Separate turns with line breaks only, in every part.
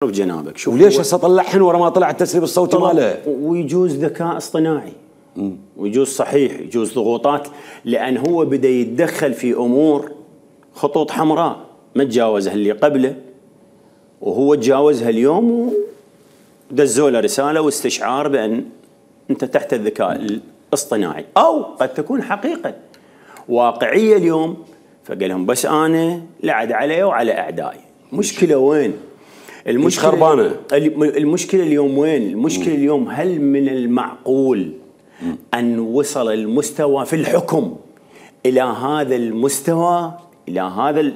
بجنابك شوف
وليش هسه طلعهن ورا ما طلع التسريب الصوتي ماله؟
ويجوز ذكاء اصطناعي ويجوز صحيح يجوز ضغوطات، لان هو بدا يتدخل في امور خطوط حمراء ما تجاوزها اللي قبله، وهو تجاوزها اليوم ودزوا له رساله واستشعار بان انت تحت الذكاء الاصطناعي، او قد تكون حقيقه واقعيه اليوم، فقال لهم بس انا لعد علي وعلى اعدائي. مشكله وين؟
المشكله خربانه.
المشكله اليوم وين؟ المشكله اليوم هل من المعقول ان وصل المستوى في الحكم الى هذا المستوى، الى هذا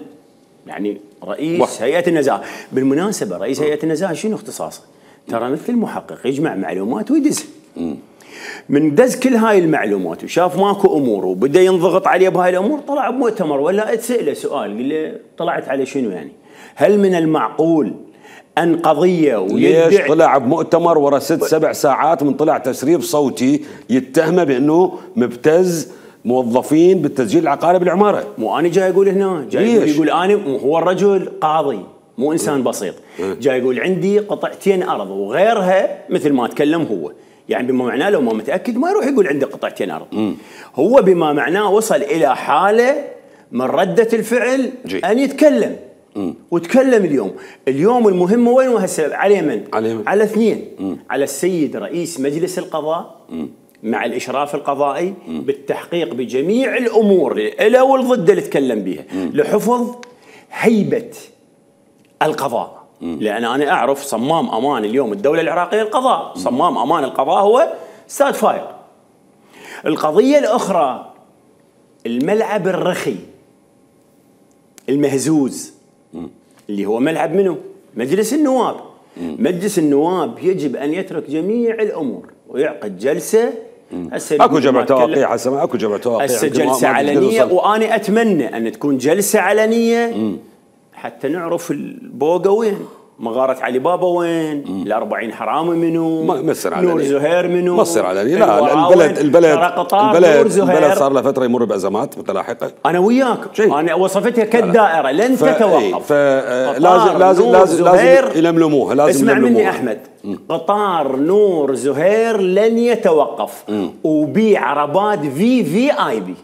يعني رئيس هيئه النزاهه؟ بالمناسبه رئيس هيئه النزاهه شنو اختصاصه؟ ترى مثل المحقق يجمع معلومات ويدزها. من دز كل هاي المعلومات وشاف ماكو امور وبدا ينضغط عليه بهاي الامور، طلع بمؤتمر ولا اتساله سؤال قال له طلعت على شنو يعني؟ هل من المعقول ان قضيه
ليش طلع بمؤتمر ورا 6-7 ساعات من طلع تسريب صوتي يتهمه بانه مبتز موظفين بالتسجيل العقاري بالعماره؟
مو انا جاي اقول هنا، جاي يقول انا هو الرجل قاضي مو انسان بسيط، جاي يقول عندي قطعتين ارض وغيرها مثل ما تكلم هو، يعني بما معناه لو ما متاكد ما يروح يقول عندي قطعتين ارض. هو بما معناه وصل الى حاله من رده الفعل ان يتكلم. وتكلم اليوم المهم وين وهسه على من؟ على اثنين، على السيد رئيس مجلس القضاء مع الاشراف القضائي بالتحقيق بجميع الامور له والضد اللي تكلم بها لحفظ هيبه القضاء. لان انا اعرف صمام امان اليوم الدوله العراقيه القضاء، صمام امان القضاء هو استاذ فايق. القضيه الاخرى الملعب الرخي المهزوز اللي هو ملعب منه؟ مجلس النواب. مجلس النواب يجب ان يترك جميع الامور ويعقد جلسه.
اكو جمع تواقيع هسه، اكو جمع تواقيع،
هسه جلسه علنيه، وانا اتمنى ان تكون جلسه علنيه حتى نعرف البوقه وين، مغاره علي بابا وين، ال40 حرامي منو،
مصر علني،
نور زهير منو،
مصر علني. لا البلد صار له فتره يمر بازمات متلاحقه.
انا وياك، انا وصفتها كالدائره لن تتوقف.
لازم يلملموها، لازم
اسمع مني احمد، قطار نور زهير لن يتوقف، وبيع عربات في اي بي.